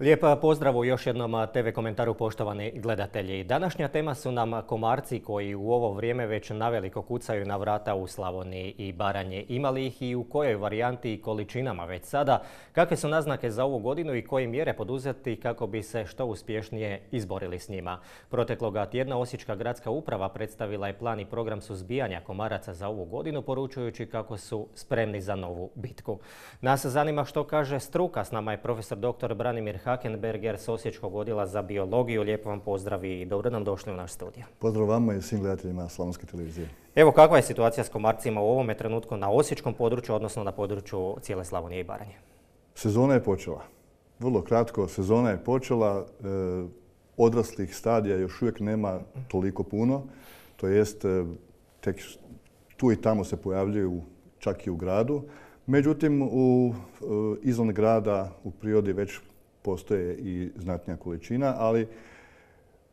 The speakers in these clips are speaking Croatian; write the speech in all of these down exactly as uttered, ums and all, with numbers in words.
Lijep pozdrav u još jednom te ve komentaru, poštovani gledatelji. Današnja tema su nam komarci koji u ovo vrijeme već naveliko kucaju na vrata u Slavoniji i Baranji. Ima li ih i u kojoj varijanti i količinama već sada? Kakve su naznake za ovu godinu i koje mjere poduzeti kako bi se što uspješnije izborili s njima? Protekloga tjedna Osječka gradska uprava predstavila je plan i program suzbijanja komaraca za ovu godinu, poručujući kako su spremni za novu bitku. Nas zanima što kaže struka. S nama je profesor doktor Branimir Hakenberger s Osječkog odjela za biologiju. Lijepo vam pozdrav i dobro nam došli u naš studio. Pozdrav vama i svim gledateljima Slavonske televizije. Evo, kakva je situacija s komarcima u ovome trenutku na osječkom području, odnosno na području cijele Slavonije i Baranje? Sezona je počela. Vrlo kratko, sezona je počela. E, odraslih stadija još uvijek nema toliko puno. To jest, e, tek tu i tamo se pojavljuju čak i u gradu. Međutim, u, e, izvan grada u prirodi već postoje i znatnija količina, ali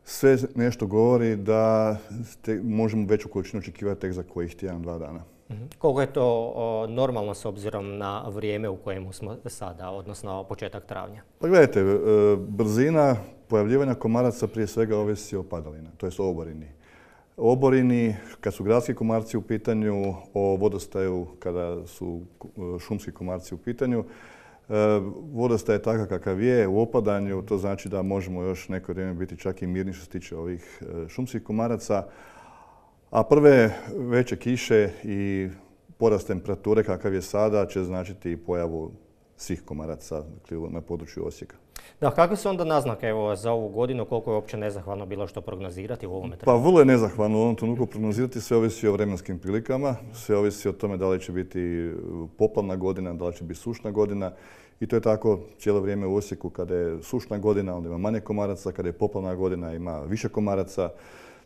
sve nešto govori da te, možemo veću količinu očekivati tek za kojih tjedan, dva dana. Mm-hmm. Koliko je to o, normalno s obzirom na vrijeme u kojemu smo sada, odnosno početak travnja? Pa gledajte, e, brzina pojavljivanja komaraca prije svega ovisi o padalina, to jest o oborini. Oborini, kad su gradski komarci u pitanju, o vodostaju kada su šumski komarci u pitanju. Vodostaj je takav kakav je, u opadanju, to znači da možemo još neko vrijeme biti čak i mirni što se tiče ovih šumskih komaraca. A prve veće kiše i porast temperature kakav je sada će značiti i pojavu svih komaraca na području Osijeka. Da, kakve su onda naznake evo, za ovu godinu, koliko je uopće nezahvalno bilo što prognozirati u ovome trenutku? Pa vrlo je nezahvalno u ovom trenutku prognozirati, sve ovisi o vremenskim prilikama, sve ovisi o tome da li će biti poplavna godina, da li će biti sušna godina. I to je tako cijelo vrijeme u Osijeku. Kada je sušna godina, onda ima manje komaraca, kada je poplavna godina, ima više komaraca.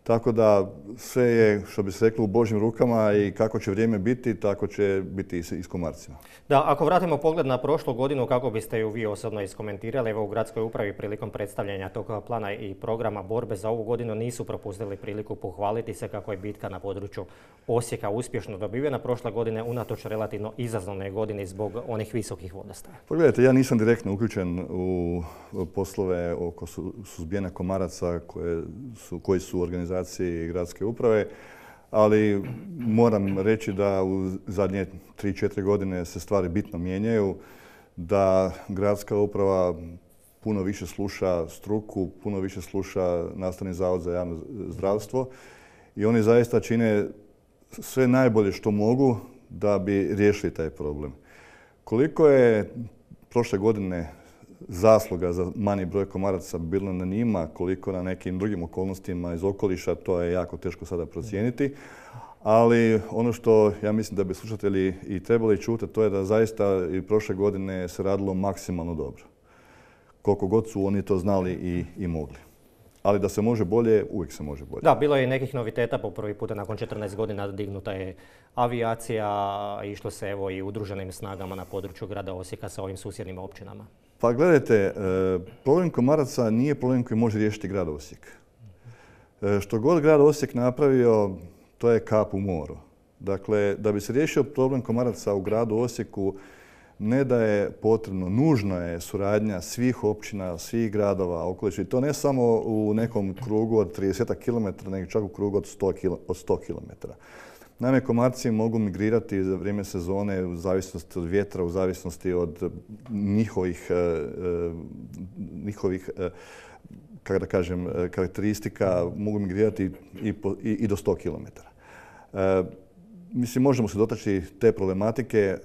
Tako da sve je, što bi se reklo, u Božjim rukama i kako će vrijeme biti, tako će biti i s komarcima. Da, ako vratimo pogled na prošlu godinu, kako biste ju vi osobno iskomentirali? Evo, u gradskoj upravi prilikom predstavljanja tog plana i programa borbe za ovu godinu nisu propustili priliku pohvaliti se kako je bitka na području Osijeka uspješno dobivena prošle godine unatoč relativno izazovnoj godini zbog onih visokih vodostaja. Pogledajte, ja nisam direktno uključen u poslove oko suzbijanja komaraca koje su, koji su organizacije i gradske uprave, ali moram reći da u zadnje tri četiri godine se stvari bitno mijenjaju, da gradska uprava puno više sluša struku, puno više sluša Nastavni zavod za javno zdravstvo i oni zaista čine sve najbolje što mogu da bi riješili taj problem. Koliko je prošle godine zasluga za manji broj komaraca bilo na njima, koliko na nekim drugim okolnostima iz okoliša, to je jako teško sada procijeniti. Ali ono što ja mislim da bi slušatelji i trebali čuti, to je da zaista i prošle godine se radilo maksimalno dobro. Koliko god su oni to znali i, i mogli. Ali da se može bolje, uvijek se može bolje. Da, bilo je i nekih noviteta. Po prvi puta nakon četrnaest godina dignuta je avijacija, išlo se evo i udruženim snagama na području grada Osijeka sa ovim susjednim općinama. Pa gledajte, problem komaraca nije problem koji može riješiti grad Osijek. Što god grad Osijek napravio, to je kap u moru. Dakle, da bi se riješio problem komaraca u gradu Osijeku, ne da je potrebno, nužno je suradnja svih općina, svih gradova okoliša. I to ne samo u nekom krugu od trideset kilometara, nego čak u krugu od sto kilometara. Naime, komarci mogu migrirati za vrijeme sezone u zavisnosti od vjetra, u zavisnosti od njihovih, njihovih kako da kažem, karakteristika, mogu migrirati i, po, i, i do sto kilometara. E, mislim, možemo se dotaći te problematike, e,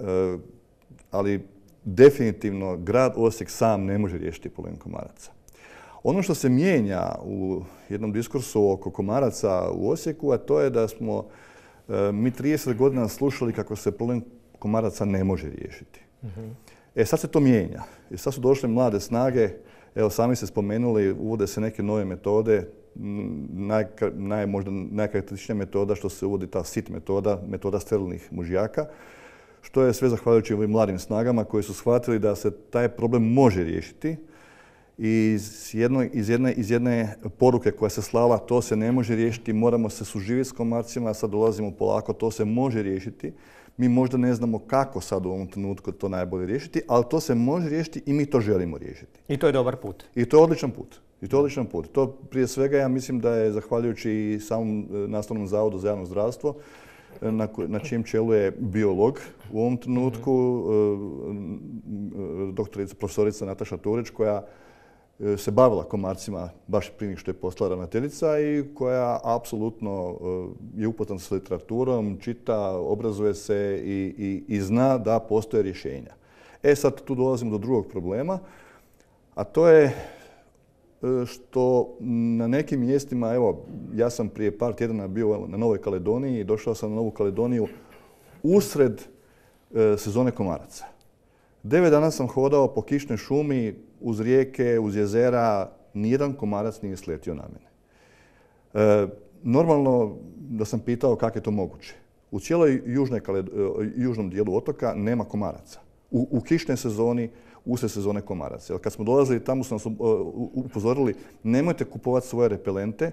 ali definitivno grad Osijek sam ne može riješiti problem komaraca. Ono što se mijenja u jednom diskursu oko komaraca u Osijeku, a to je da smo e, mi trideset godina slušali kako se problem komaraca ne može riješiti. Mm-hmm. E sad se to mijenja. I sad su došle mlade snage. Evo, sami ste spomenuli, uvode se neke nove metode. Naj, naj, možda najkarakterističnija metoda što se uvodi ta S I T metoda, metoda sterilnih mužjaka, što je sve zahvaljujući ovim mladim snagama koji su shvatili da se taj problem može riješiti. I iz, jedno, iz, jedne, iz jedne poruke koja se slala, to se ne može riješiti, moramo se suživjeti s komarcima, sad dolazimo polako, to se može riješiti. Mi možda ne znamo kako sad u ovom trenutku to najbolje riješiti, ali to se može riješiti i mi to želimo riješiti. I to je dobar put. I to je odličan put. I to je odličan put. To prije svega ja mislim da je zahvaljujući i samom Nastavnom zavodu za javno zdravstvo, na, na čijem čelu je biolog u ovom trenutku, mm-hmm. doktorica, profesorica Nataša Turić, koja se bavila komarcima baš prije nego što je postala ravnateljica i koja apsolutno je upoznata s literaturom, čita, obrazuje se i, i, i zna da postoje rješenja. E sad tu dolazimo do drugog problema, a to je što na nekim mjestima, evo, ja sam prije par tjedana bio na Novoj Kaledoniji i došao sam na Novu Kaledoniju usred e, sezone komaraca. Devet dana sam hodao po kišnoj šumi, uz rijeke, uz jezera, nijedan komarac nije sletio na mene. E, normalno da sam pitao kako je to moguće. U cijeloj južnoj Kaled, južnom dijelu otoka nema komaraca. U, u kišnoj sezoni usred sezone komaraca. Jer kad smo dolazili tamo su nas upozorili nemojte kupovati svoje repelente,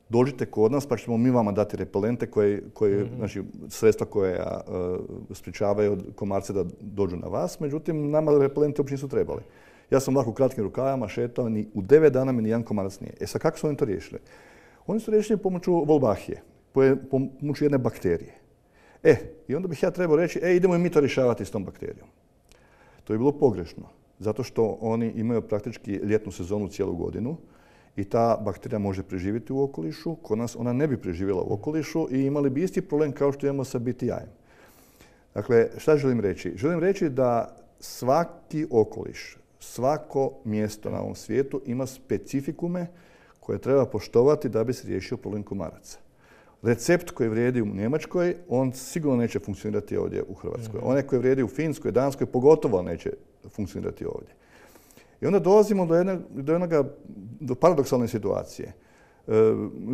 dođite kod nas pa ćemo mi vama dati repelente koje, koje mm-hmm. znači sredstva koje uh, sprječavaju komarce da dođu na vas. Međutim, nama repelente uopće nisu trebali. Ja sam ovako u kratkim rukavama šetao, ni u devet dana mi nijedan komarac nije. E sad kako su oni to riješili? Oni su riješili pomoću Wolbachije, pomoću jedne bakterije. E, i onda bih ja trebao reći, e, idemo i mi to rješavati s tom bakterijom. To je bilo pogrešno, zato što oni imaju praktički ljetnu sezonu cijelu godinu i ta bakterija može preživjeti u okolišu. Kod nas ona ne bi preživjela u okolišu i imali bi isti problem kao što imamo sa B T I-em. Dakle, šta želim reći? Želim reći da svaki okoliš, svako mjesto na ovom svijetu ima specifikume koje treba poštovati da bi se riješio problem komaraca. Recept koji vrijedi u Njemačkoj, on sigurno neće funkcionirati ovdje u Hrvatskoj. Onaj koji vrijedi u Finskoj, Danskoj, pogotovo neće funkcionirati ovdje. I onda dolazimo do, jedne, do, jednoga, do paradoksalne situacije. E,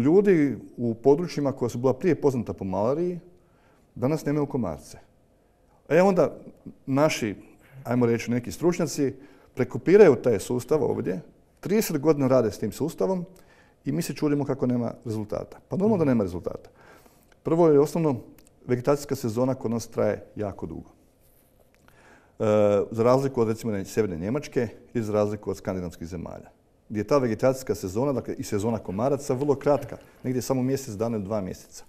ljudi u područjima koja su bila prije poznata po malariji, danas nemaju komarce. E onda naši, ajmo reći, neki stručnjaci prekopiraju taj sustav ovdje, trideset godina rade s tim sustavom, i mi se čudimo kako nema rezultata. Pa normalno da nema rezultata. Prvo je osnovno, vegetacijska sezona kod nas traje jako dugo. E, za razliku od recimo sjeverne Njemačke i za razliku od skandinavskih zemalja. Gdje je ta vegetacijska sezona, dakle i sezona komaraca, vrlo kratka. Negdje samo mjesec dana ili dva mjeseca.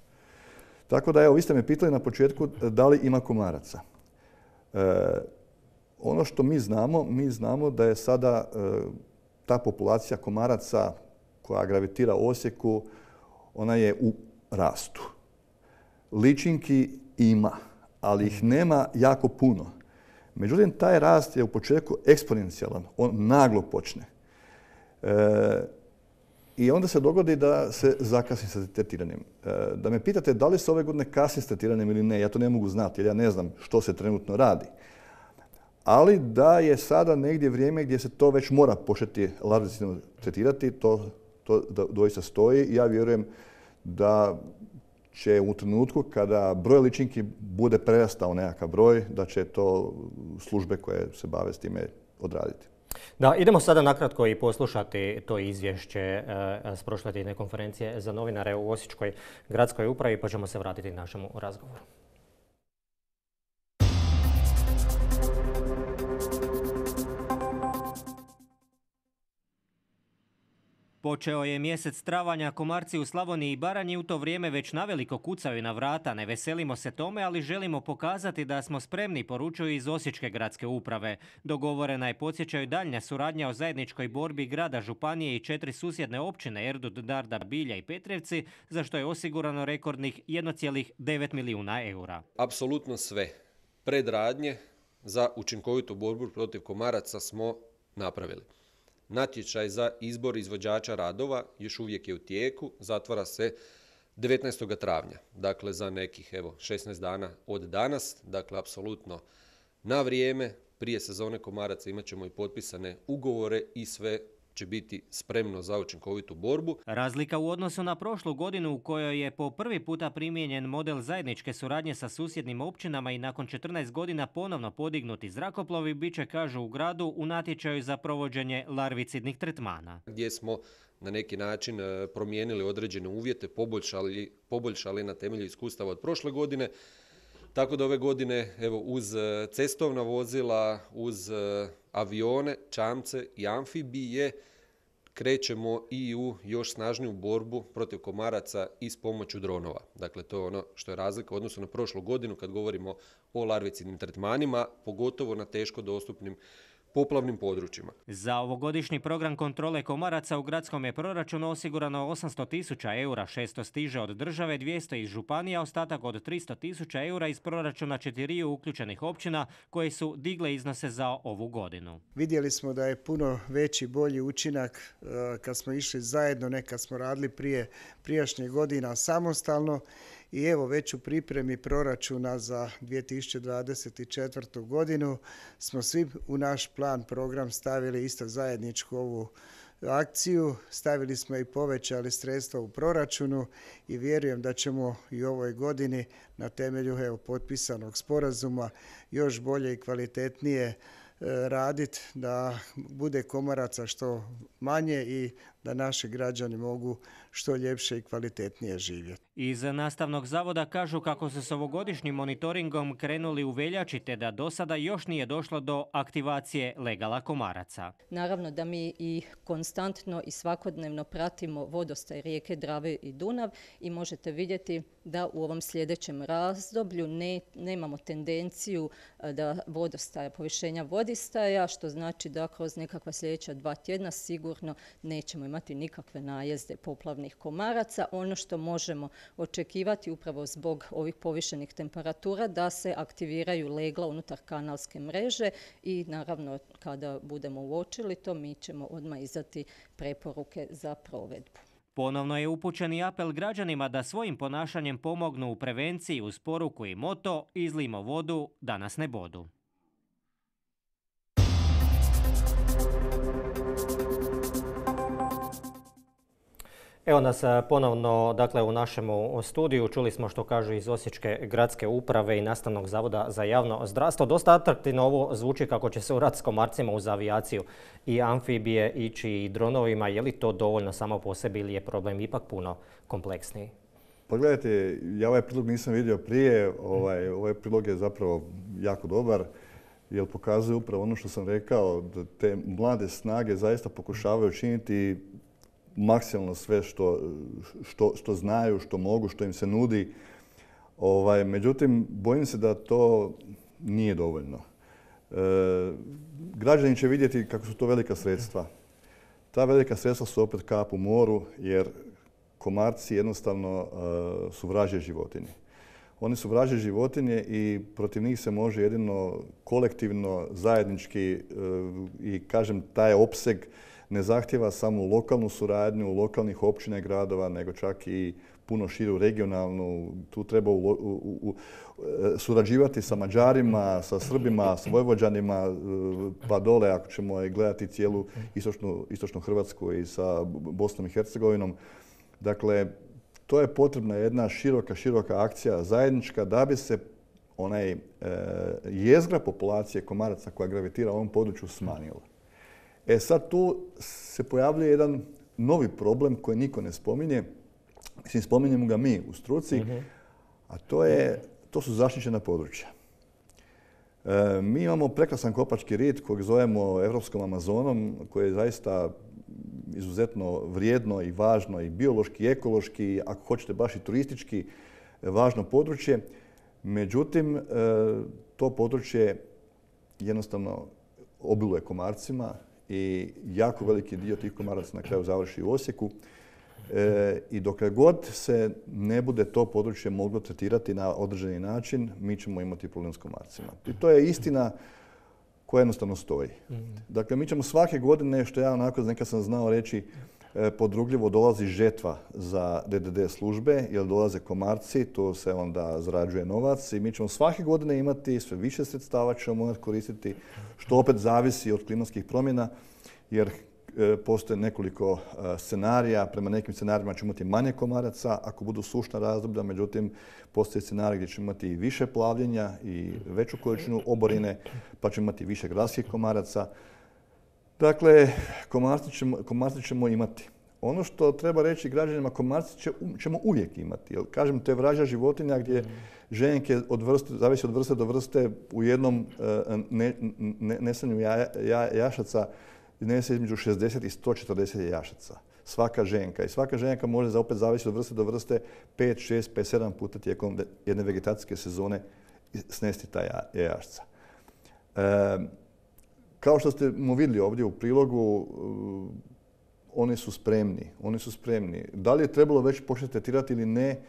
Tako da, evo, vi ste me pitali na početku da li ima komaraca. E, ono što mi znamo, mi znamo da je sada e, ta populacija komaraca koja gravitira u Osijeku, ona je u rastu. Ličinki ima, ali ih nema jako puno. Međutim, taj rast je u početku eksponencijalan, on naglo počne. E, I onda se dogodi da se zakasni sa tretiranjem. E, da me pitate da li se ove godine kasni s tretiranjem ili ne, ja to ne mogu znati jer ja ne znam što se trenutno radi. Ali da je sada negdje vrijeme gdje se to već mora početi larvicidno tretirati, to To doista stoji i ja vjerujem da će u trenutku kada broj ličinki bude prerastao nekakav broj, da će to službe koje se bave s time odraditi. Da, idemo sada nakratko i poslušati to izvješće e, s prošle tjedne konferencije za novinare u Osječkoj gradskoj upravi, pa ćemo se vratiti našemu razgovoru. Počeo je mjesec travanja, komarci u Slavoniji i Baranji u to vrijeme već naveliko kucaju na vrata. Ne veselimo se tome, ali želimo pokazati da smo spremni, poručuju iz Osječke gradske uprave. Dogovorena je, podsjećaju, daljnja suradnja o zajedničkoj borbi grada, županije i četiri susjedne općine Erdut, Darda, Bilja i Petrevci, za što je osigurano rekordnih jedan zarez devet milijuna eura. Apsolutno sve predradnje za učinkovitu borbu protiv komaraca smo napravili. Natječaj za izbor izvođača radova još uvijek je u tijeku, zatvara se devetnaestog travnja, dakle za nekih evo, šesnaest dana od danas, dakle apsolutno na vrijeme, prije sezone komaraca imat ćemo i potpisane ugovore i sve će biti spremno za učinkovitu borbu. Razlika u odnosu na prošlu godinu u kojoj je po prvi puta primijenjen model zajedničke suradnje sa susjednim općinama i nakon četrnaest godina ponovno podignuti zrakoplovi, bit će, kažu u gradu, u natječaju za provođenje larvicidnih tretmana. Gdje smo na neki način promijenili određene uvjete, poboljšali, poboljšali na temelju iskustava od prošle godine Tako da ove godine evo, uz cestovna vozila, uz avione, čamce i amfibije krećemo i u još snažniju borbu protiv komaraca i s pomoću dronova. Dakle, to je ono što je razlika u odnosu na prošlu godinu kad govorimo o larvicidnim tretmanima, pogotovo na teško dostupnim poplavnim područjima. Za ovogodišnji program kontrole komaraca u gradskom je proračunu osigurano osamsto tisuća eura, šesto stiže od države, dvjesto iz županija, ostatak od tristo tisuća eura iz proračuna četiriju uključenih općina koje su digle iznose za ovu godinu. Vidjeli smo da je puno veći, bolji učinak kad smo išli zajedno, ne kad smo radili prije prijašnjih godina samostalno. I evo već u pripremi proračuna za dvije tisuće dvadeset četvrtu. godinu smo svi u naš plan program stavili isto zajedničku ovu akciju. Stavili smo i povećali sredstva u proračunu i vjerujem da ćemo i u ovoj godini na temelju evo, potpisanog sporazuma još bolje i kvalitetnije raditi da bude komaraca što manje i da naši građani mogu što ljepše i kvalitetnije živjeti. Iz Nastavnog zavoda kažu kako su s ovogodišnjim monitoringom krenuli u veljači te da do sada još nije došlo do aktivacije legala komaraca. Naravno da mi i konstantno i svakodnevno pratimo vodostaj rijeke Drave i Dunav i možete vidjeti da u ovom sljedećem razdoblju ne, nemamo tendenciju da vodostaja, povišenja vodistaja, što znači da kroz nekakva sljedeća dva tjedna sigurno nećemo imati nikakve najezde poplavnih komaraca. Ono što možemo očekivati upravo zbog ovih povišenih temperatura da se aktiviraju legla unutar kanalske mreže i naravno kada budemo uočili to mi ćemo odmah izdati preporuke za provedbu. Ponovno je upućen i apel građanima da svojim ponašanjem pomognu u prevenciji uz poruku i moto "Izlijmo vodu, da nas ne bodu". Evo nas ponovno dakle, u našem studiju. Čuli smo što kažu iz Osječke gradske uprave i Nastavnog zavoda za javno zdravstvo. Dosta atraktivno ovo zvuči kako će se u rat s komarcima uz avijaciju i amfibije ići i dronovima. Je li to dovoljno samo po sebi ili je problem ipak puno kompleksniji? Pa gledajte, ja ovaj prilog nisam vidio prije. Ovaj, ovaj prilog je zapravo jako dobar jer pokazuje upravo ono što sam rekao, da te mlade snage zaista pokušavaju činiti maksimalno sve što, što, što znaju, što mogu, što im se nudi. Ovaj, međutim, bojim se da to nije dovoljno. E, građani će vidjeti kako su to velika sredstva. Ta velika sredstva su opet kap u moru jer komarci jednostavno e, su vražje životinje. Oni su vražje životinje i protiv njih se može jedino kolektivno, zajednički e, i kažem taj opseg ne zahtjeva samo lokalnu suradnju lokalnih općina i gradova, nego čak i puno širu regionalnu. Tu treba u, u, u, surađivati sa Mađarima, sa Srbima, sa Vojvođanima, pa dole ako ćemo gledati cijelu istočnu, istočnu Hrvatsku i sa Bosnom i Hercegovinom. Dakle, to je potrebna jedna široka, široka akcija zajednička da bi se onaj e, jezgra populacije komaraca koja gravitira u ovom području smanjila. E sad tu se pojavljuje jedan novi problem koji niko ne spominje. Mislim, spominjemo ga mi u struci, uh-huh. a to, je, to su zaštićena područja. E, mi imamo prekrasan kopački rit kojeg zovemo Europskom Amazonom, koji je zaista izuzetno vrijedno i važno i biološki, i ekološki, ako hoćete baš i turistički važno područje. Međutim, e, to područje jednostavno obiluje komarcima i jako veliki dio tih komaraca na kraju završi u Osijeku. E, I dokle god se ne bude to područje moglo tretirati na određeni način, mi ćemo imati problem s komarcima. I to je istina koja jednostavno stoji. Dakle, mi ćemo svake godine, što ja onako nekad sam znao reći, podrugljivo dolazi žetva za D D D službe, jer dolaze komarci, tu se onda zarađuje novac i mi ćemo svake godine imati sve više sredstava ćemo morati koristiti, što opet zavisi od klimatskih promjena, jer postoje nekoliko scenarija. Prema nekim scenarijima ćemo imati manje komaraca ako budu sušna razdoblja, međutim postoje scenarij gdje ćemo imati više plavljenja i veću količinu oborine, pa ćemo imati više gradskih komaraca. Dakle, komarce ćemo, komarce ćemo imati. Ono što treba reći građanima, komarci će, ćemo uvijek imati. Jer, kažem, to je vražja životinja gdje mm. ženke od vrste, zavisi od vrste do vrste u jednom ne, ne, nesanju ja, ja, jašaca nese između šezdeset i sto četrdeset jašaca. Svaka ženka. I svaka ženka može, za opet zavisi od vrste do vrste, pet, šest, pet, sedam puta tijekom jedne vegetacijske sezone snesti ta jajašca. E, kao što ste mu vidjeli ovdje u prilogu, oni su spremni. Oni su spremni. Da li je trebalo već početi tretirati ili ne,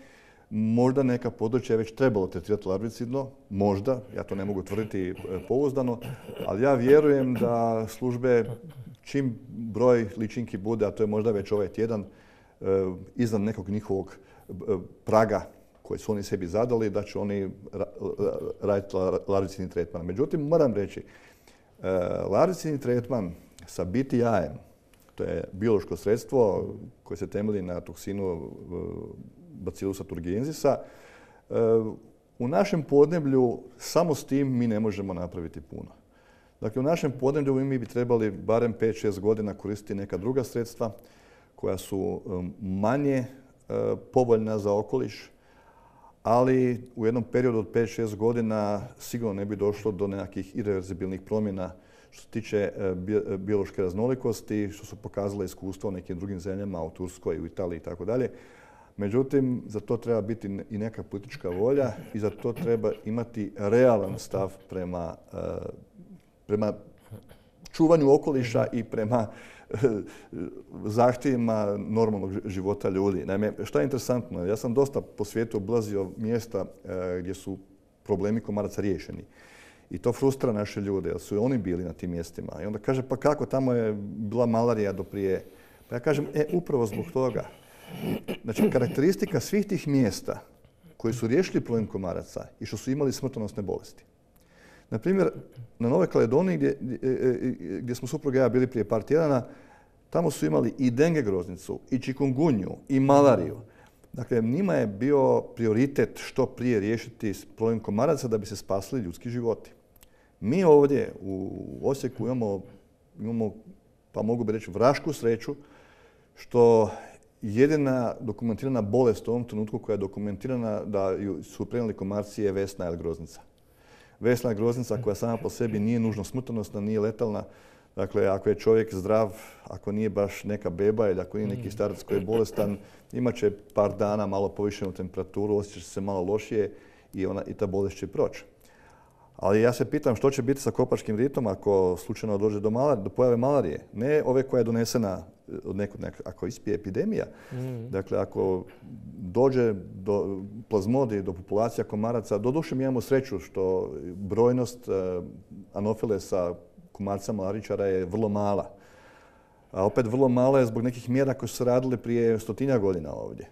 možda neka područja je već trebalo tretirati larvicidno, možda, ja to ne mogu tvrditi pouzdano, ali ja vjerujem da službe, čim broj ličinki bude, a to je možda već ovaj tjedan, iznad nekog njihovog praga koji su oni sebi zadali, da će oni raditi larvicidni tretman. Međutim, moram reći, larvicidni tretman sa B T I-em, to je biološko sredstvo koje se temelji na toksinu Bacillusa thuringiensisa, u našem podneblju samo s tim mi ne možemo napraviti puno. Dakle, u našem podneblju mi bi trebali barem pet šest godina koristiti neka druga sredstva koja su manje povoljna za okoliš, ali u jednom periodu od pet šest godina sigurno ne bi došlo do nekakvih irreverzibilnih promjena što se tiče biološke raznolikosti, što su pokazale iskustva u nekim drugim zemljama, u Turskoj, u Italiji i tako dalje. Međutim, za to treba biti i neka politička volja i za to treba imati realan stav prema, prema čuvanju okoliša i prema zahtjevima normalnog života ljudi. Naime, što je interesantno, ja sam dosta po svijetu obilazio mjesta gdje su problemi komaraca riješeni. I to frustrira naše ljude, jer su oni bili na tim mjestima. I onda kaže, pa kako, tamo je bila malarija do prije. Pa ja kažem, e, upravo zbog toga. Znači, karakteristika svih tih mjesta koji su riješili problem komaraca i što su imali smrtonosne bolesti. Na primjer, na Novoj Kaledoniji, gdje, gdje smo supruga i ja bili prije par tjedana, tamo su imali i denge groznicu, i čikungunju, i malariju. Dakle, njima je bio prioritet što prije riješiti problem komaraca da bi se spasili ljudski životi. Mi ovdje u Osijeku imamo, imamo, pa mogu bi reći, vrašku sreću što jedina dokumentirana bolest u ovom trenutku koja je dokumentirana da su prenijeli komarci je vesna ili groznica. Vesna groznica koja sama po sebi nije nužno smrtonosna, nije letalna. Dakle, ako je čovjek zdrav, ako nije baš neka beba ili ako nije neki starac koji je bolestan, imat će par dana malo povišenu temperaturu, osjeća se malo lošije i, ona, i ta bolest će proći. Ali ja se pitam što će biti sa kopačkim ritom ako slučajno dođe do, malar, do pojave malarije. Ne ove koja je donesena od nekog, nek, ako ispije epidemija. Mm. Dakle, ako dođe do plazmodi, do populacija komaraca, doduše mi imamo sreću što brojnost uh, anofilesa komarca malaričara je vrlo mala. A opet vrlo mala je zbog nekih mjera koje su se radile prije stotinja godina ovdje.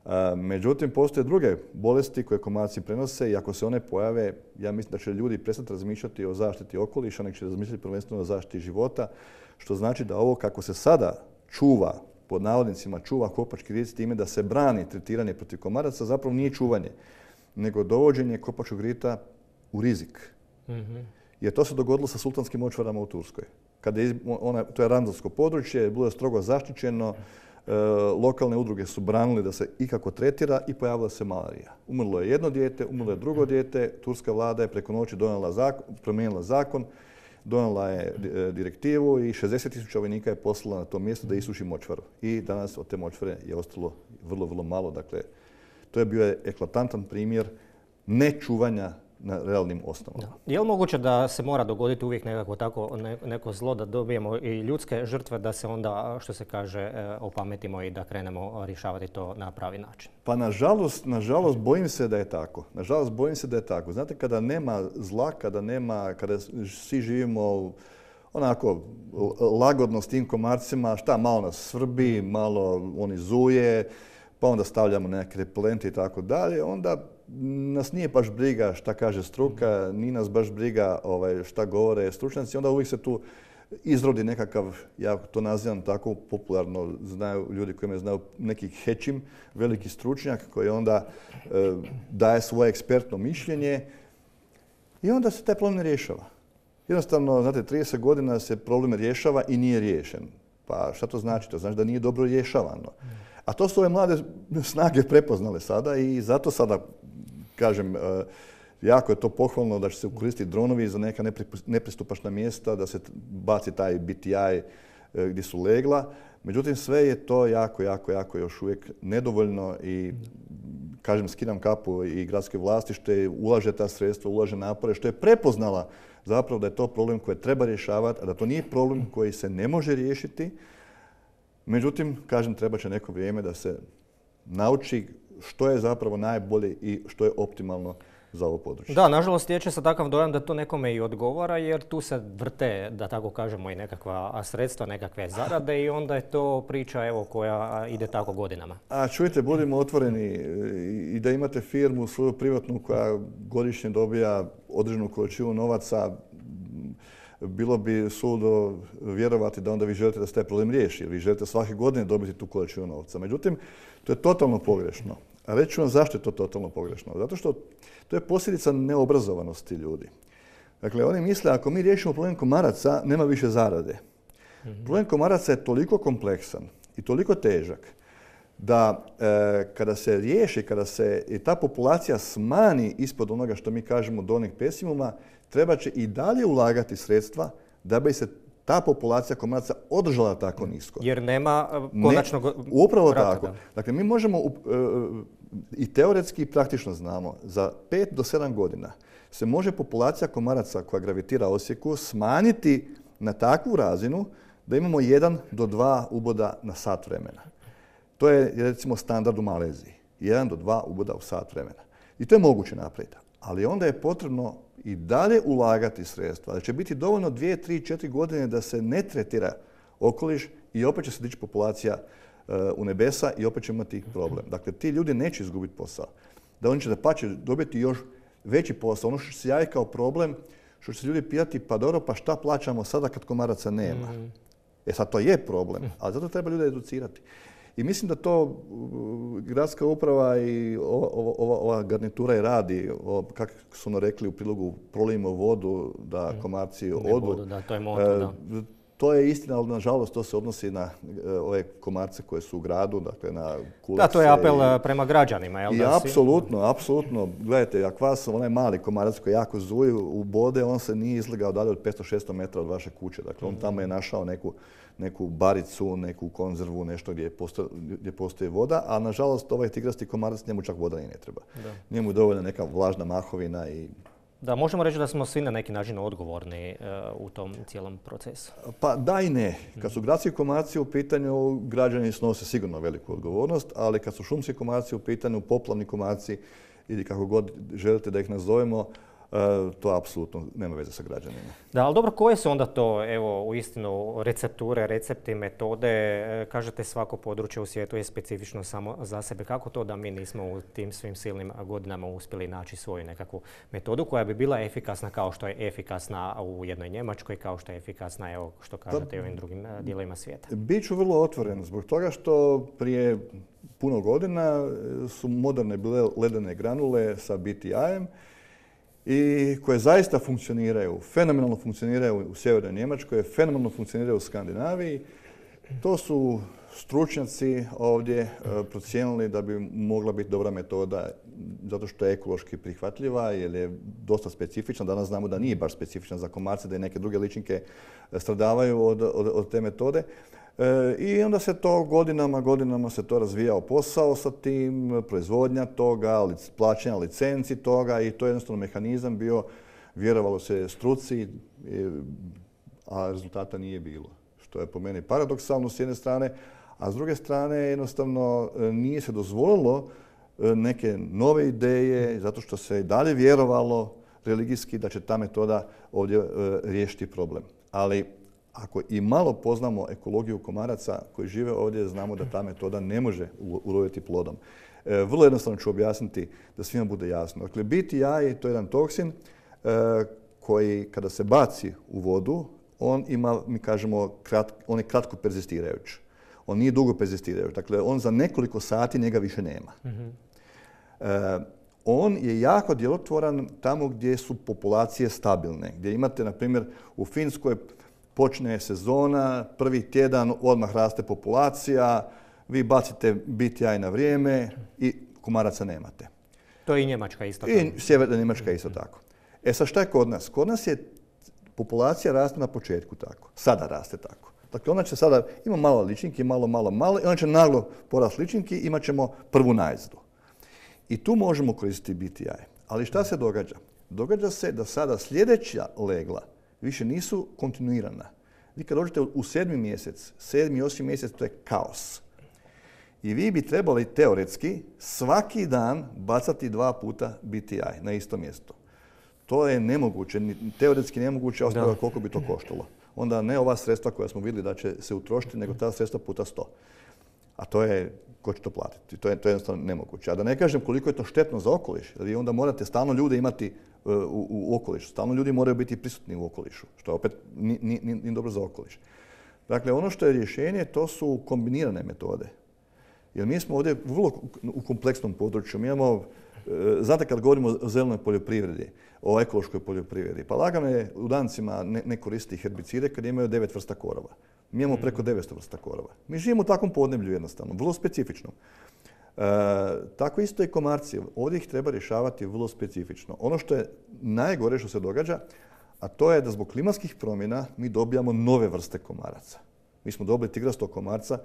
A, međutim, postoje druge bolesti koje komarci prenose i ako se one pojave, ja mislim da će ljudi prestati razmišljati o zaštiti okoliša, nego će razmišljati prvenstveno o zaštiti života, što znači da ovo kako se sada čuva, pod navodnicima čuva kopački rit s time da se brani tretiranje protiv komaraca, zapravo nije čuvanje, nego dovođenje kopačkog rita u rizik. Mm-hmm. Jer to se dogodilo sa sultanskim močvarama u Turskoj. Kada je ona, to je randalsko područje, bilo je strogo zaštićeno, e, lokalne udruge su branili da se ikako tretira i pojavila se malarija. Umrlo je jedno dijete, umrlo je drugo dijete, turska vlada je preko noći donijela zakon, promijenila zakon, donijela je direktivu i šezdeset tisuća vojnika je poslala na to mjesto da isuši močvaru. I danas od te močvare je ostalo vrlo, vrlo malo. Dakle, to je bio eklatantan primjer nečuvanja na realnim osnovama. Je li moguće da se mora dogoditi uvijek nekako tako neko zlo da dobijemo i ljudske žrtve da se onda, što se kaže, opametimo i da krenemo rješavati to na pravi način? Pa nažalost, nažalost bojim se da je tako. Nažalost bojim se da je tako. Znate, kada nema zla, kada nema, kada svi živimo onako lagodno s tim komarcima, šta malo nas svrbi, malo oni zuje, pa onda stavljamo neke repelente i tako dalje, onda nas nije baš briga šta kaže struka, nije nas baš briga ovaj, šta govore stručnjaci, onda uvijek se tu izrodi nekakav, ja to nazivam tako popularno, znaju ljudi koji me znaju, neki hečim, veliki stručnjak koji onda e, daje svoje ekspertno mišljenje i onda se taj problem ne rješava. Jednostavno, znate, trideset godina se problem rješava i nije riješen. Pa šta to znači? To znači da nije dobro rješavano. A to su ove mlade snage prepoznale sada i zato sada, kažem, jako je to pohvalno da će se koristiti dronovi za neka nepristupačna mjesta, da se baci taj B T I gdje su legla. Međutim, sve je to jako, jako, jako još uvijek nedovoljno i, kažem, skidam kapu i gradske vlasti što je ulaže ta sredstva, ulaže napore, što je prepoznala zapravo da je to problem koji treba rješavati, a da to nije problem koji se ne može riješiti. Međutim, kažem, treba će neko vrijeme da se nauči što je zapravo najbolje i što je optimalno za ovo područje. Da, nažalost, stječe se takav dojam da to nekome i odgovara, jer tu se vrte, da tako kažemo, i nekakva sredstva, nekakve zarade i onda je to priča evo, koja ide tako godinama. A čujte, budimo otvoreni i da imate firmu svoju privatnu koja godišnje dobija određenu količinu novaca, bilo bi suludo vjerovati da onda vi želite da se taj problem riješi, jer vi želite svake godine dobiti tu količinu novca. Međutim, to je totalno pogrešno. A reći ću vam zašto je to totalno pogrešno. Zato što to je posljedica neobrazovanosti ljudi. Dakle, oni misle ako mi riješimo problem komaraca, nema više zarade. Mm-hmm. Problem komaraca je toliko kompleksan i toliko težak da e, kada se riješi, kada se i ta populacija smani ispod onoga što mi kažemo donjeg pesimuma, treba će i dalje ulagati sredstva da bi se ta populacija komaraca održala tako nisko. Jer nema konačnog ne, upravo vrata, tako. Da. Dakle, mi možemo uh, i teoretski i praktično znamo, za pet do sedam godina se može populacija komaraca koja gravitira Osijeku smanjiti na takvu razinu da imamo jedan do dva uboda na sat vremena. To je recimo standard u Maleziji. jedan do dva uboda u sat vremena. I to je moguće napraviti. Ali onda je potrebno i dalje ulagati sredstva. Da će biti dovoljno dvije, tri, četiri godine da se ne tretira okoliš i opet će se dići populacija uh, u nebesa i opet će imati problem. Dakle, ti ljudi neće izgubiti posao. Da oni će da pa će dobiti još veći posao. Ono što se javi kao problem, što će se ljudi pitati, pa dobro, pa šta plaćamo sada kad komaraca nema? Mm. E sad to je problem, ali zato treba ljude educirati. I mislim da to gradska uprava i ova, ova, ova garnitura i radi, o, kako su ono rekli u prilogu, prolijemo vodu da komarci odu. Vodu, da, to je moto, da. To je istina, ali nažalost to se odnosi na ove komarce koje su u gradu, dakle na kulice. Da, to je apel i, prema građanima, jel? I da apsolutno, si... apsolutno. Gledajte, ako vas onaj mali komarac koji jako zuji u bode, on se nije izlegao dalje od petsto šesto metara od vaše kuće. Dakle, on tamo je našao neku, neku baricu, neku konzervu, nešto gdje postoji, gdje postoji voda, a nažalost ovaj tigrasti komarac njemu čak voda i ne treba. Da. Njemu je dovoljna neka vlažna mahovina i... Da, možemo reći da smo svi na neki način odgovorni uh, u tom cijelom procesu. Pa da i ne. Kad su gradski komarci u pitanju, građani snose sigurno veliku odgovornost, ali kad su šumski komarci u pitanju, poplavni komarci ili kako god želite da ih nazovemo, to apsolutno nema veze sa građanima. Da, ali dobro, koje su onda to, evo, uistinu recepture, recepti, metode? Kažete, svako područje u svijetu je specifično samo za sebe. Kako to da mi nismo u tim svim silnim godinama uspjeli naći svoju nekakvu metodu koja bi bila efikasna kao što je efikasna u jednoj Njemačkoj, kao što je efikasna, evo, što kažete, i ovim drugim dijelovima svijeta? Biću vrlo otvoren zbog toga što prije puno godina su moderne bile ledene granule sa B T I-em i koje zaista funkcioniraju, fenomenalno funkcioniraju u sjevernoj Njemačkoj, fenomenalno funkcioniraju u Skandinaviji. To su stručnjaci ovdje procijenili da bi mogla biti dobra metoda zato što je ekološki prihvatljiva jer je dosta specifična. Danas znamo da nije baš specifična za komarce, da i neke druge ličinke stradavaju od, od, od te metode. E, I onda se to godinama, godinama se to razvijao posao sa tim, proizvodnja toga, plaćanja licenci toga i to je jednostavno mehanizam bio, vjerovalo se struci, a rezultata nije bilo. Što je po meni paradoksalno s jedne strane, a s druge strane jednostavno nije se dozvolilo neke nove ideje zato što se i dalje vjerovalo religijski da će ta metoda ovdje riješiti problem. Ali ako i malo poznamo ekologiju komaraca koji žive ovdje, znamo da ta metoda ne može uroditi plodom. E, vrlo jednostavno ću objasniti da svima bude jasno. Dakle, B T I to je jedan toksin e, koji kada se baci u vodu, on ima, mi kažemo, krat, on je kratko perzistirajući. On nije dugo perzistirajući. Dakle, on za nekoliko sati njega više nema. Mm-hmm. e, on je jako djelotvoran tamo gdje su populacije stabilne. Gdje imate, na primjer, u Finskoj počne sezona, prvi tjedan odmah raste populacija, vi bacite B T I na vrijeme i komaraca nemate. To je i Njemačka isto tako. I sjeverna Njemačka isto tako. E sad šta je kod nas? Kod nas je populacija raste na početku tako. Sada raste tako. Dakle, ona će sada, ima malo ličinki, malo, malo, malo, i ona će naglo porast ličinki, imat ćemo prvu najezdu. I tu možemo koristiti B T I. Ali šta se događa? Događa se da sada sljedeća legla više nisu kontinuirana. Vi kad dođete u sedmi mjesec, sedmi, osmi mjesec, to je kaos. I vi bi trebali teoretski svaki dan bacati dva puta B T I na isto mjesto. To je nemoguće, teoretski nemoguće, a koliko bi to koštalo. Onda ne ova sredstva koja smo vidjeli da će se utrošiti, nego ta sredstva puta sto. A to je, ko će to platiti? To je, to je jednostavno nemoguće. A da ne kažem koliko je to štetno za okoliš, jer vi onda morate stalno ljude imati u, u, u okolišu. Stalno ljudi moraju biti prisutni u okolišu, što opet nije, nije, nije dobro za okoliš. Dakle, ono što je rješenje, to su kombinirane metode. Jer mi smo ovdje vrlo u kompleksnom području. Mi imamo, znate kad govorimo o zelenoj poljoprivredi, o ekološkoj poljoprivredi, pa lagano je u dancima ne, ne koristiti herbicide kad imaju devet vrsta korova. Mi imamo preko devetsto vrsta korova. Mi živimo u takvom podneblju jednostavno, vrlo specifično. E, tako isto i komarci. Ovdje ih treba rješavati vrlo specifično. Ono što je najgore što se događa, a to je da zbog klimatskih promjena mi dobijamo nove vrste komaraca. Mi smo dobili tigrastog komarca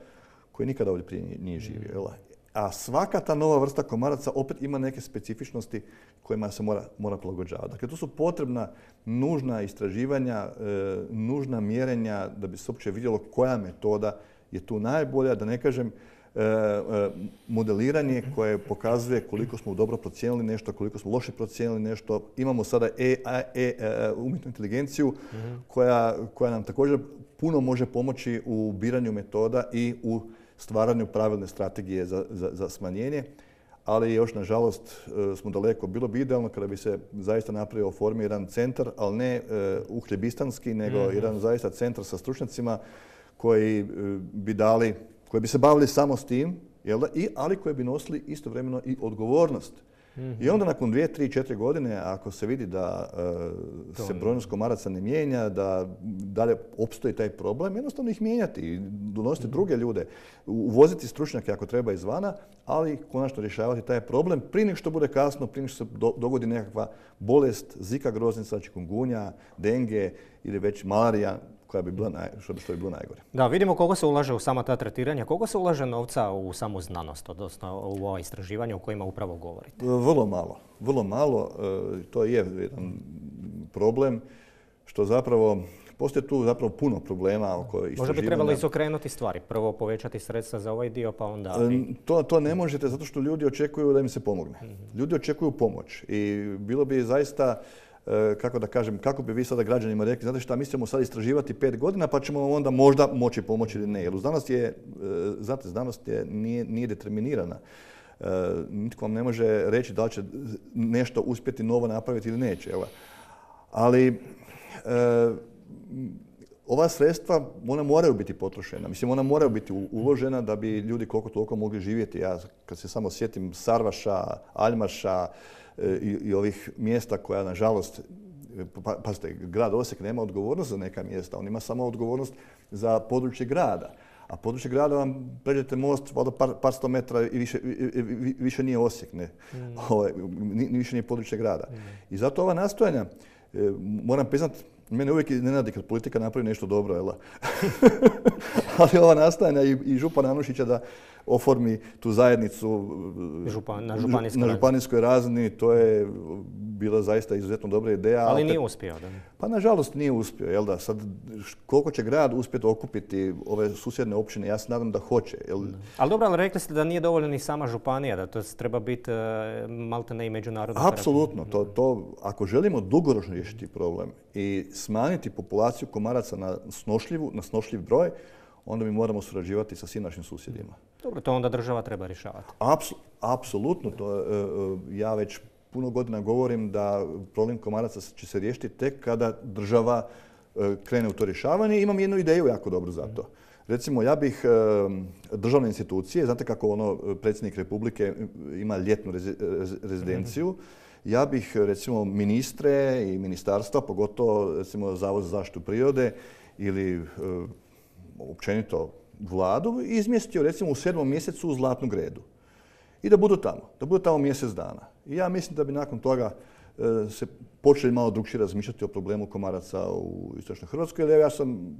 koji nikada ovdje prije nije živio. A svaka ta nova vrsta komaraca opet ima neke specifičnosti kojima se mora, mora prilagođavati. Dakle, to su potrebna nužna istraživanja, e, nužna mjerenja da bi se uopće vidjelo koja metoda je tu najbolja, da ne kažem e, e, modeliranje koje pokazuje koliko smo dobro procijenili nešto, koliko smo loše procijenili nešto. Imamo sada e, e, e, umjetnu inteligenciju mm-hmm. koja, koja nam također puno može pomoći u biranju metoda i u stvaranju pravilne strategije za, za, za smanjenje, ali još nažalost smo daleko. Bilo bi idealno kada bi se zaista napravio formi jedan centar, ali ne uh, uhljebistanski, nego mm-hmm. jedan zaista centar sa stručnjacima koji uh, bi dali, koji bi se bavili samo s tim, jel da? I, ali koji bi nosili istovremeno i odgovornost. Mm-hmm. I onda nakon dvije, tri, četiri godine, ako se vidi da uh, se brojnost komaraca ne mijenja, da dalje opstoji taj problem, jednostavno ih mijenjati i donositi mm-hmm. druge ljude, uvoziti stručnjake ako treba izvana, ali konačno rješavati taj problem prije nego što bude kasno, prije nego što se do, dogodi nekakva bolest, zika groznica, čikungunja, denge ili već malarija, koja bi bila naj, što, bi, što bi bilo najgore. Da, vidimo koliko se ulaže u sama ta tretiranja. Koliko se ulaže novca u samu znanost, odnosno u ova istraživanja o kojima upravo govorite? Vrlo malo. Vrlo malo. To je jedan problem što zapravo postoje tu zapravo puno problema oko istraživanja. Možda bi trebalo izokrenuti stvari. Prvo povećati sredstva za ovaj dio, pa onda... To, to ne možete zato što ljudi očekuju da im se pomogne. Ljudi očekuju pomoć i bilo bi zaista... kako da kažem, kako bi vi sada građanima rekli, znate šta, mi ćemo sad istraživati pet godina pa ćemo onda možda moći pomoći ili ne. Jer u znanost je, znate, znanost je, nije, nije determinirana. Nitko vam ne može reći da li će nešto uspjeti novo napraviti ili neće. Evo. Ali ova sredstva, ona moraju biti potrošena. Mislim, ona moraju biti uložena da bi ljudi koliko toliko mogli živjeti. Ja kad se samo sjetim Sarvaša, Aljmaša, I, i ovih mjesta koja, nažalost, pa, pazite, grad Osijek nema odgovornost za neka mjesta, on ima samo odgovornost za područje grada. A područje grada vam pređete most, valjda par, par sto metra i više, i, i, više nije Osijek, ne. Mm. Ovo, ni, više nije područje grada. Mm. I zato ova nastojanja, e, moram priznat, mene uvijek iznenadi kad politika napravi nešto dobro, jel? Ali ova nastojanja i, i župana Anušića da oformi tu zajednicu Župan, na, županijskoj na županijskoj razini, to je bila zaista izuzetno dobra ideja. Ali nije uspio, da? Pa nažalost nije uspio, jel da? Sad, koliko će grad uspjeti okupiti ove susjedne općine, ja se nadam da hoće. Jel? Ali dobro, ali rekli ste da nije dovoljno ni sama županija, da to treba biti malte ne i međunarodno. Apsolutno, to, to, ako želimo dugoročno riješiti problem i smanjiti populaciju komaraca na snošljivu, na snošljiv broj, onda mi moramo surađivati sa svim našim susjedima. Dobro, to onda država treba rješavati. Apsu, apsolutno. To, ja već puno godina govorim da problem komaraca će se riješiti tek kada država krene u to rješavanje. Imam jednu ideju jako dobru za to. Recimo, ja bih državne institucije, znate kako ono predsjednik Republike ima ljetnu rezidenciju, ja bih recimo ministre i ministarstva, pogotovo recimo Zavod za zaštitu prirode ili e, općenito vladu izmjestio recimo u sedmom mjesecu u Zlatnu Gredu. I da budu tamo, da budu tamo mjesec dana. I ja mislim da bi nakon toga e, se počeli malo drukčije razmišljati o problemu komaraca u istočnoj Hrvatskoj. Jer ja sam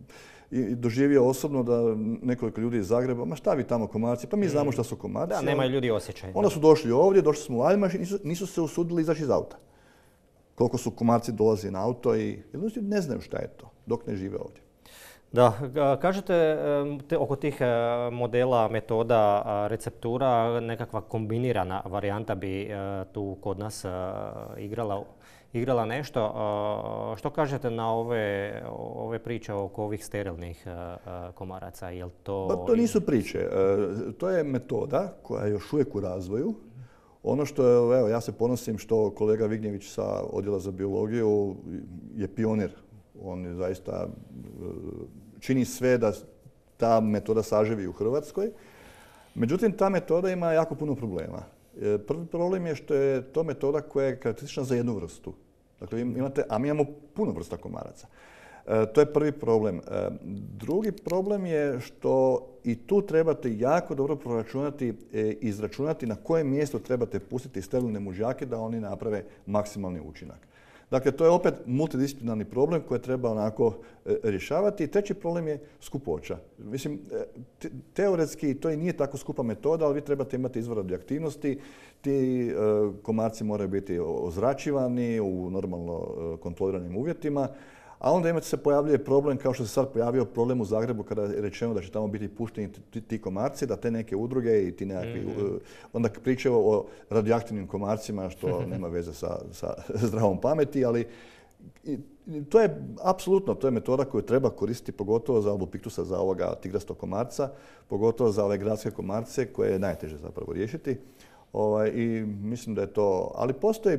i doživio osobno da nekoliko ljudi iz Zagreba, ma šta vi tamo komarci, pa mi znamo šta su komarci. Da, nemaju ljudi osjećaj. Onda su došli ovdje, došli smo u Aljmaš i nisu, nisu se usudili izaći iz auta. Koliko su komarci dolazi na auto i ne znaju šta je to, dok ne žive ovdje. Da, kažete te, oko tih modela, metoda, receptura, nekakva kombinirana varijanta bi tu kod nas igrala, igrala nešto. Što kažete na ove, ove priče oko ovih sterilnih komaraca? Jel to... Pa to nisu priče. To je metoda koja je još uvijek u razvoju. Ono što je, evo, ja se ponosim što kolega Vignjević sa Odjela za biologiju je pionir. On je zaista čini sve da ta metoda saživi u Hrvatskoj. Međutim, ta metoda ima jako puno problema. Prvi problem je što je to metoda koja je karakteristična za jednu vrstu. Dakle, imate, a mi imamo puno vrsta komaraca. To je prvi problem. Drugi problem je što i tu trebate jako dobro proračunati i izračunati na koje mjesto trebate pustiti sterilne mužjake da oni naprave maksimalni učinak. Dakle, to je opet multidisciplinarni problem koji treba onako rješavati. I treći problem je skupoća. Mislim, teoretski to i nije tako skupa metoda, ali vi trebate imati izvor radioaktivnosti. Ti komarci moraju biti ozračivani u normalno kontroliranim uvjetima. A onda imate se pojavljuje problem, kao što se sad pojavio problem u Zagrebu kada je rečeno da će tamo biti pušteni ti, ti komarci, da te neke udruge i ti nekakvi... Mm-hmm. Onda pričaju o radioaktivnim komarcima, što nema veze sa, sa zdravom pameti, ali i, to je apsolutno, to je metoda koju treba koristiti pogotovo za albopiktusa, za ovoga tigrastog komarca, pogotovo za ove gradske komarce koje je najteže zapravo riješiti. Ovaj, I mislim da je to... Ali postoji,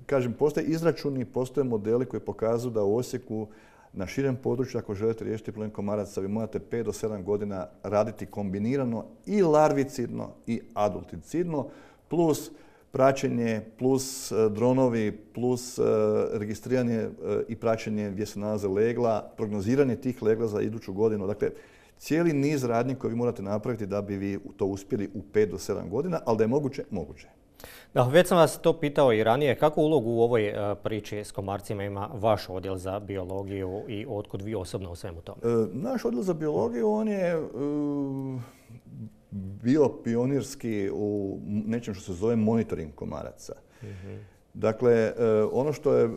kažem, postoje izračuni, postoje modeli koji pokazuju da u Osijeku na širem području, ako želite riješiti problem komaraca, vi morate pet do sedam godina raditi kombinirano i larvicidno i adulticidno, plus praćenje, plus dronovi, plus registriranje i praćenje gdje se nalaze legla, prognoziranje tih legla za iduću godinu. Dakle, cijeli niz radnji koje vi morate napraviti da bi vi to uspjeli u pet do sedam godina, ali da je moguće, moguće. Da, već sam vas to pitao i ranije. Kakvu ulogu u ovoj priči s komarcima ima vaš odjel za biologiju i otkud vi osobno u svemu tome? E, naš odjel za biologiju, on je e, bio pionirski u nečem što se zove monitoring komaraca. Mm-hmm. Dakle, e, ono što je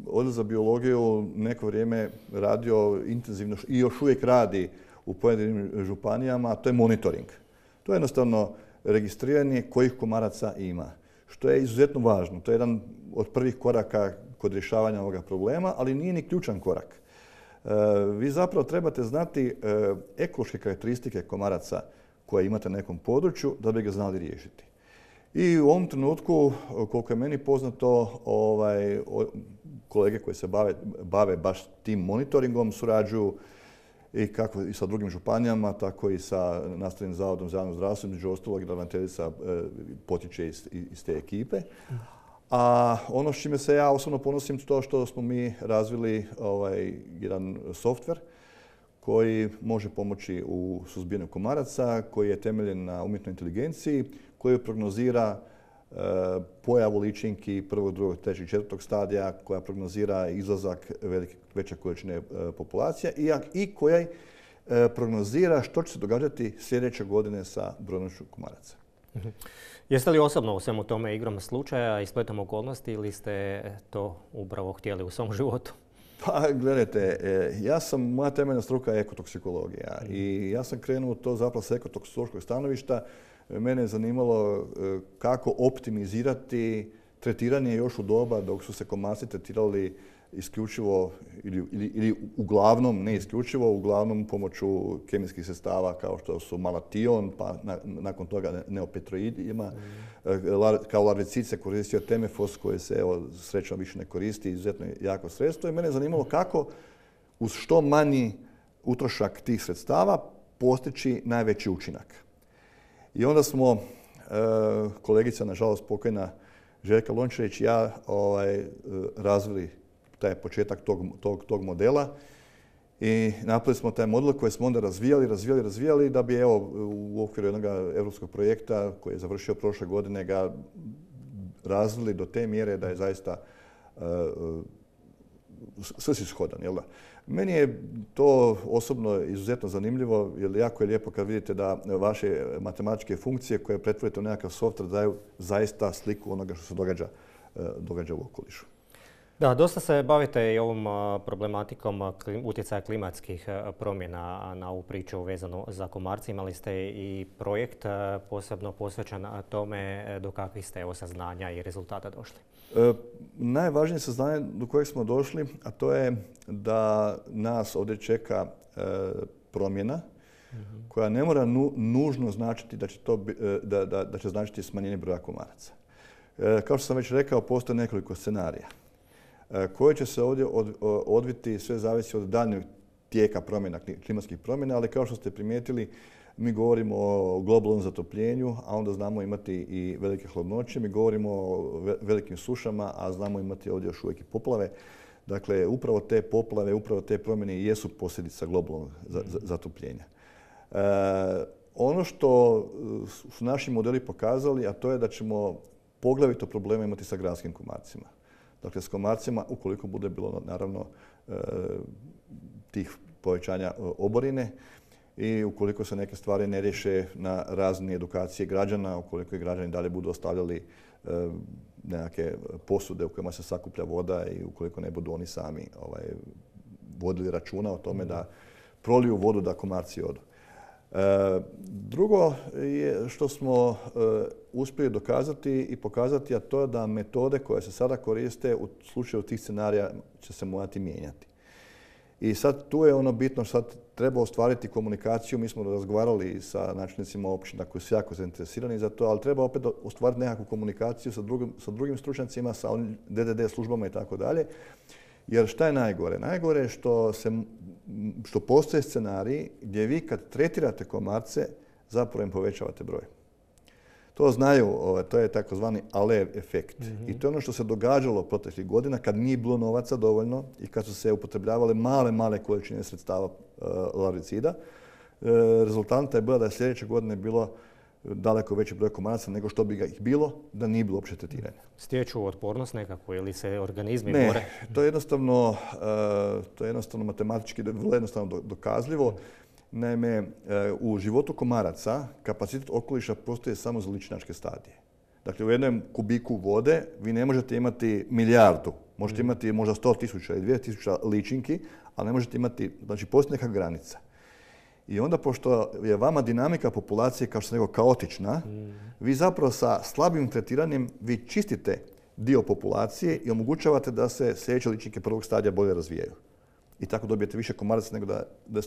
odjel za biologiju neko vrijeme radio intenzivno i još uvijek radi u pojedinim županijama, to je monitoring. To je jednostavno registriranje kojih komaraca ima, što je izuzetno važno. To je jedan od prvih koraka kod rješavanja ovoga problema, ali nije ni ključan korak. E, vi zapravo trebate znati e, ekološke karakteristike komaraca koje imate na nekom području da bi ga znali riješiti. I u ovom trenutku, koliko je meni poznato, ovaj, kolege koji se bave, bave baš tim monitoringom surađuju i kako i sa drugim županijama, tako i sa Nastavnim zavodom za javno zdravstvo, među ostalog i ravnateljica e, potiče iz, iz te ekipe. A ono s čime se ja osobno ponosim to što smo mi razvili ovaj, jedan softver koji može pomoći u suzbijanju komaraca, koji je temeljen na umjetnoj inteligenciji, koji prognozira e, pojavu ličinki prvog, drugog, trećeg, četvrtog stadija, koja prognozira izlazak velike, veće količine e, populacija i, i koja e, prognozira što će se događati sljedeće godine sa brojnošću komaraca. Mm-hmm. Jeste li osobno u svemu tome igrom slučaja i spletom okolnosti ili ste to upravo htjeli u svom životu? Pa gledajte, ja sam, moja temeljna struka je ekotoksikologija mm. i ja sam krenuo to zapravo s ekotoksikološkog stanovišta. Mene je zanimalo kako optimizirati tretiranje još u doba dok su se komarci tretirali isključivo ili, ili, ili uglavnom, ne isključivo, uglavnom pomoću kemijskih sredstava kao što su malation, pa na, nakon toga neopetroidima. Mm. Kao larvicid se koristio temefos koji se evo, srećom više ne koristi, izuzetno jako sredstvo. I mene je zanimalo kako uz što manji utrošak tih sredstava postići najveći učinak. I onda smo, e, kolegica, nažalost pokojna Željka Lončarić i ja ovaj, razvili taj početak tog, tog, tog modela I napravili smo taj model koji smo onda razvijali, razvijali, razvijali da bi evo u okviru jednog europskog projekta koji je završio prošle godine ga razvili do te mjere da je zaista uh, svrsishodan. Jel da? Meni je to osobno izuzetno zanimljivo, jer jako je lijepo kad vidite da vaše matematičke funkcije koje pretvorite u nekakav software daju zaista sliku onoga što se događa, uh, događa u okolišu. Da, dosta se bavite i ovom problematikom utjecaja klimatskih promjena na ovu priču vezanu za komarce. Imali ste i projekt posebno posvećen tome. Do kakvih ste evo saznanja i rezultata došli? E, najvažnije saznanje do kojeg smo došli, a to je da nas ovdje čeka e, promjena mm-hmm. koja ne mora nu, nužno značiti da će, to, da, da, da će značiti smanjenje broja komaraca. E, kao što sam već rekao, postoje nekoliko scenarija koje će se ovdje odviti, sve zavisi od daljnjeg tijeka promjena, klimatskih promjena, ali kao što ste primijetili, mi govorimo o globalnom zatopljenju, a onda znamo imati i velike hladnoće, mi govorimo o velikim sušama, a znamo imati ovdje još uvijek i poplave. Dakle, upravo te poplave, upravo te promjene jesu posljedica globalnog zatopljenja. E, ono što su naši modeli pokazali, a to je da ćemo poglavito probleme imati sa gradskim komarcima. Dakle, s komarcima, ukoliko bude bilo naravno tih povećanja oborine i ukoliko se neke stvari ne riješe na razini edukacije građana, ukoliko i građani dalje budu ostavljali nekakve posude u kojima se sakuplja voda i ukoliko ne budu oni sami ovaj, vodili računa o tome da proliju vodu da komarci odu. E, drugo je što smo e, uspjeli dokazati i pokazati, a to je da metode koje se sada koriste u slučaju tih scenarija će se morati mijenjati. I sad tu je ono bitno, sad treba ostvariti komunikaciju. Mi smo razgovarali sa načelnicima općina koji su jako zainteresirani za to, ali treba opet ostvariti nekakvu komunikaciju sa drugim, sa drugim stručnjacima, sa D D D službama i tako dalje. Jer šta je najgore? Najgore je što, se, što postoje scenariji gdje vi kad tretirate komarce zapravo im povećavate broj. To znaju, to je takozvani Alert efekt. Mm-hmm. I to je ono što se događalo proteklih godina kad nije bilo novaca dovoljno i kad su se upotrebljavale male, male količine sredstava uh, larvicida. Uh, rezultanta je bila da je sljedeće godine bilo daleko veći broj komaraca nego što bi ga ih bilo da nije bilo uopće tretiranja. Stječu otpornost nekako ili se organizmi ne, bore? Ne, to je jednostavno, uh, to je jednostavno matematički vrlo jednostavno dokazljivo. Naime, u životu komaraca kapacitet okoliša postoji samo za ličinačke stadije. Dakle, u jednom kubiku vode vi ne možete imati milijardu. Možete imati možda sto tisuća i dvije tisuće ličinki, ali ne možete imati, znači postoji neka granica. I onda, pošto je vama dinamika populacije, kao što sam rekao, kaotična, mm. vi zapravo sa slabim tretiranjem vi čistite dio populacije i omogućavate da se sljedeće ličinke prvog stadija bolje razvijaju. I tako dobijete više komaraca nego, da, da,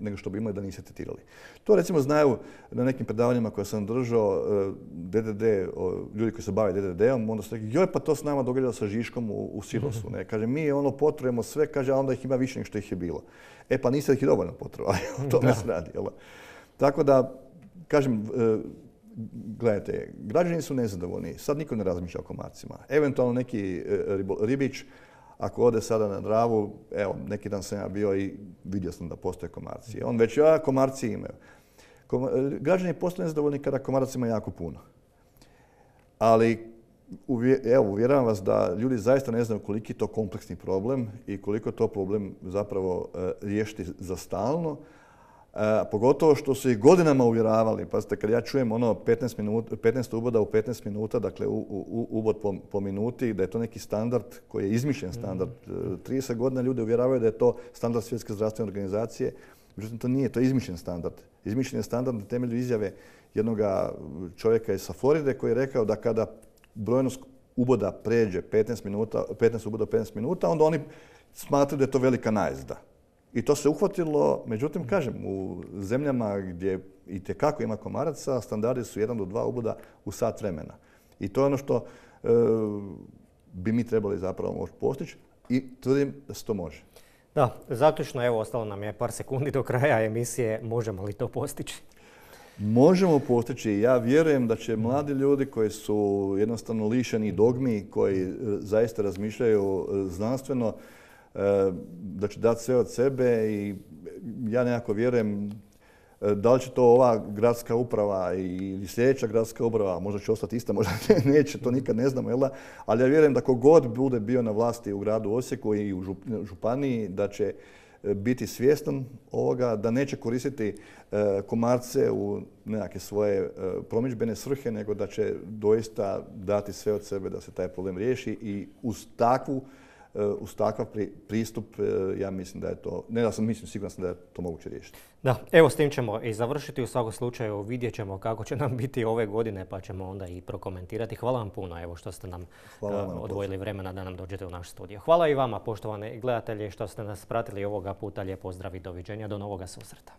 nego što bi imali da niste tretirali. To recimo znaju na nekim predavanjima koje sam držao D D D, ljudi koji se bave D D D-om, onda su rekli, joj pa to s nama događa sa Žiškom u, u silosu. Ne? Kaže, mi ono potrujemo sve, kaže, a onda ih ima više nego što ih je bilo. E pa niste ih i dovoljno potruvali, o tome se radi. Jel? Tako da, kažem, gledajte, građani su nezadovoljni, sad niko ne razmišlja o komarcima. Eventualno neki ribič, ako ode sada na Dravu, evo, neki dan sam ja bio i vidio sam da postoje komarci. On već, ja, komarci imaju. Kom, građani postaju nezadovoljni kada komaraca ima jako puno. Ali, uvje, evo, uvjeravam vas da ljudi zaista ne znaju koliki je to kompleksni problem i koliko je to problem zapravo e, riješiti za stalno. E, pogotovo što su ih godinama uvjeravali. Pazite, kad ja čujem ono petnaest, minuta, petnaest uboda u petnaest minuta, dakle u, u, ubod po, po minuti, da je to neki standard koji je izmišljen standard. Mm. trideset godina ljudi uvjeravaju da je to standard Svjetske zdravstvene organizacije. Međutim, to nije, to je izmišljen standard. Izmišljen je standard na temelju izjave jednog čovjeka iz Floride koji je rekao da kada brojnost uboda pređe petnaest, minuta, petnaest uboda u petnaest minuta, onda oni smatraju da je to velika najezda. I to se uhvatilo, međutim, kažem, u zemljama gdje itekako ima komaraca, standardi su jedan do dva uboda u sat vremena. I to je ono što e, bi mi trebali zapravo moći postići i tvrdim da se to može. Da, zaključno, evo, ostalo nam je par sekundi do kraja emisije. Možemo li to postići? Možemo postići. Ja vjerujem da će mladi ljudi koji su jednostavno lišeni dogmi, koji zaista razmišljaju znanstveno, da će dati sve od sebe i ja nekako vjerujem da li će to ova gradska uprava i sljedeća gradska uprava, možda će ostati ista, možda neće, to nikad ne znamo, jel da? Ali ja vjerujem da kogod bude bio na vlasti u gradu Osijeku i u županiji, da će biti svjestan ovoga, da neće koristiti Komarce u nekakve svoje promidžbene svrhe, nego da će doista dati sve od sebe da se taj problem riješi i uz takvu uz takav pristup, ja mislim da je to, ne da sam mislim, siguran sam da je to moguće riješiti. Da, evo s tim ćemo i završiti. U svakom slučaju vidjet ćemo kako će nam biti ove godine, pa ćemo onda i prokomentirati. Hvala vam puno evo što ste nam odvojili vremena da nam dođete u naš studio. Hvala i vama, poštovani gledatelji, što ste nas pratili ovoga puta. Lijep pozdrav i doviđenja. Do novoga susreta.